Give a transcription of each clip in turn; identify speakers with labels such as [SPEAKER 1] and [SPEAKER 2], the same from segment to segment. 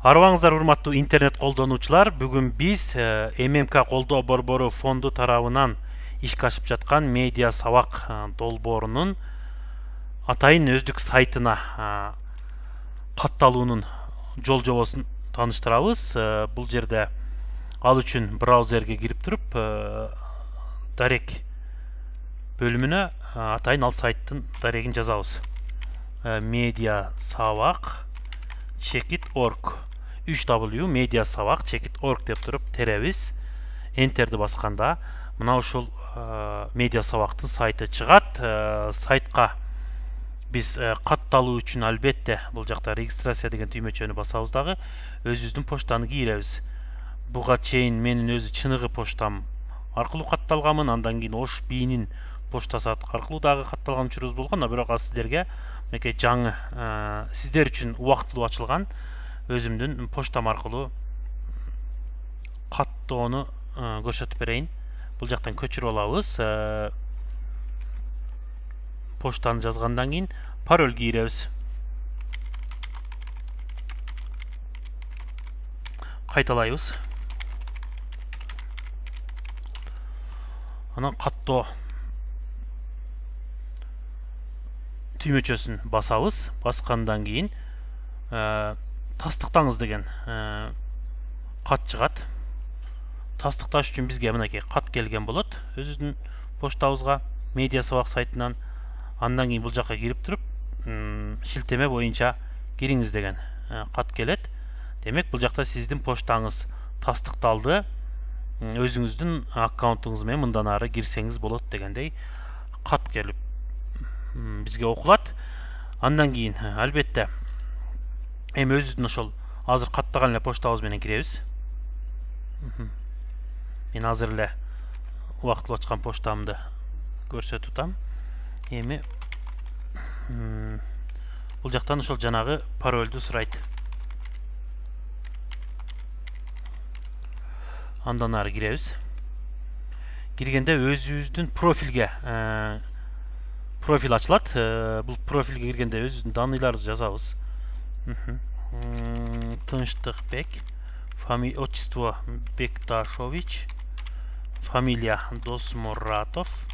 [SPEAKER 1] Арыбаңыздар урматтуу интернет колдонуучулар, бүгүн биз ММК колдоо борбору фонду тарабынан ишке ашып жаткан медиа сабак долбоорунун атайын өздүк сайтына катталуунун жол жобосун тааныштырабыз. Бул жерде ал үчүн браузерге кирип туруп, дарек бөлүмүнө атайын ал сайттын дарегин жазабыз. Медиа сабак checkit.org 3w медиа сабак checkit.org деп туруп теребиз. Энтерди басканда мына ушул медиа сабактын сайты чыгат. Сайтка биз катталуу үчүн албетте бул жакта регистрация деген түймөчөнү басабыз дагы өзүбүздүн почтаны кийребиз. Буга чейин менин өзү чыныгы почтам аркылуу катталганмын, андан кийин Ош Бийнин поштасы аркылуу дагы катталган учурубуз болгон, бирок ал сиздерге мынакей жаңы сиздер үчүн убактылуу ачылган өзүмдүн поштам аркылуу каттоону көрсөтүп берейин. Бул жактан көчүрүп алабыз. Поштаны жазгандан кийин пароль кийребиз. Кайталайбыз. Анан каттоо түймөчөсүн басабыз. Баскандан кийин тастыктаңыз деген кат чыгат. Тастыкташ үчүн бизге мынакей кат келген болот өзүбүздүн поштабызга медиа сабак сайтынан. Андан кийин бул жакка кирип туруп, шилтеме боюнча кириңиз деген кат келет. Демек бул жакта сиздин поштаңыз тастыкталды. Өзүңүздүн аккаунтуңуз менен мындан ары кирсеңиз болот дегендей кат келип бизге окулат. Андан кийин албетте эми өзүбүздүн ошол азыр каттаган эле поштабыз менен киребиз. Мен азыр эле убактылуу ачкан поштамды көрсөтүп атам. Эми бул жактан ошол жанагы паролду сурайт. Андан ары киребиз. Киргенде өзүбүздүн профилге профиль ачылат. Бул профилге киргенде өзүбүздүн данныйларыбызды жазабыз. Тынчтыкбек, отчество Бекташович, фамилия Досмуратов,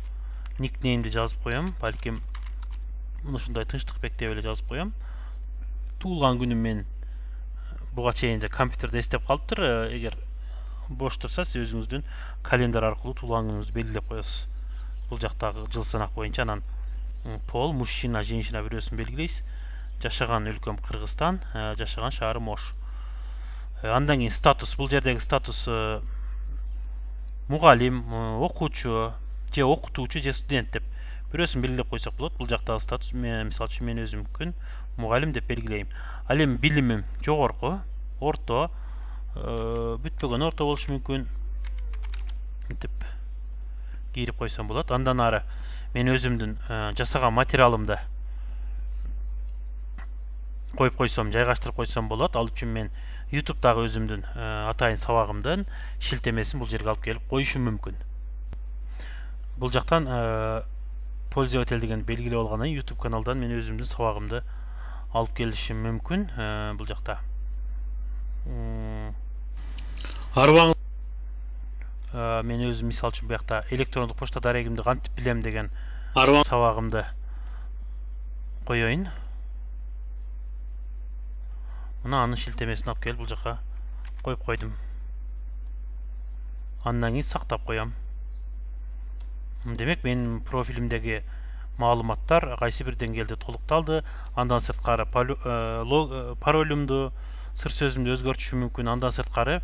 [SPEAKER 1] никнеймди жазып коем. Балким ушундай Тынчтыкбек деп эле жазып коем. Туулган күнүм мен буга чейин компьютерде эстеп калыптыр. Эгер бош турса, сиз өзүңүздүн календар аркылуу туулган күнүңүздү белгилеп коесуз. Бул жактагы жыл санак боюнча анан пол, мужчина, женщина бирөөсүн белгилейсиз. Жашаган өлкөм Кыргызстан, жашаган шаарым Ош. Андан кийин статус, бул жердеги статус мугалим, окуучу, же окутуучу, же студент деп бирөөсүн белгилеп койсок болот. Бул жактагы статус мисалы үчүн мен өзүм мүмкүн мугалим деп белгилейм. Ал эми билимим жогорку, орто, бүтпөгөн орто болушу мүмкүн деп кийирип койсом болот. Андан ары мен өзүмдүн жасаган материалымды коюп койсом, жайгаштырып койсом болот. Ал үчүн мен YouTube'дагы өзүмдүн атайын сабагымдын шилтемесин бул жерге алып келип коюшум мүмкүн. Бул жактан пользователь деген белгилеп алгандан кийин YouTube каналдан мен өзүмдүн сабагымды алып келишим мүмкүн. Бул жакта арыбаңыз мен өзүм мисалы үчүн буякта электрондук почта дарегимди кантип билем деген сабагымды коеюн. Мына анын шилтемесин алып келип бул жака коюп койдум. Андан кийин сактап коем. Демек менин профилимдеги маалыматтар кайсы бир деңгээлде толукталды. Андан сырткары паролюмду, сыр сөзүмдү өзгөртүшүм мүмкүн. Андан сырткары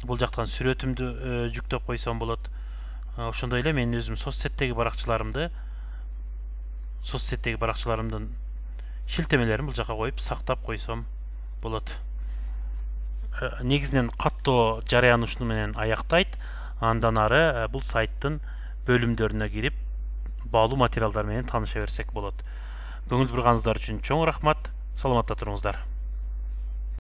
[SPEAKER 1] бул жактан сүрөтүмдү жүктөп койсом болот. Ошондой эле мен өзүм соцсеттеги баракчаларымдын шилтемелерин бул жака коюп сактап койсом болот. Негизинен каттоо жарыяны ушуну менен аяктайт. Андан ары бул сайттын бөлүмдөрүнө кирип баалуу материалдар менен тааныша берсек болот. Көңүл бурганыңыздар үчүн чоң рахмат. Саламатта туруңуздар.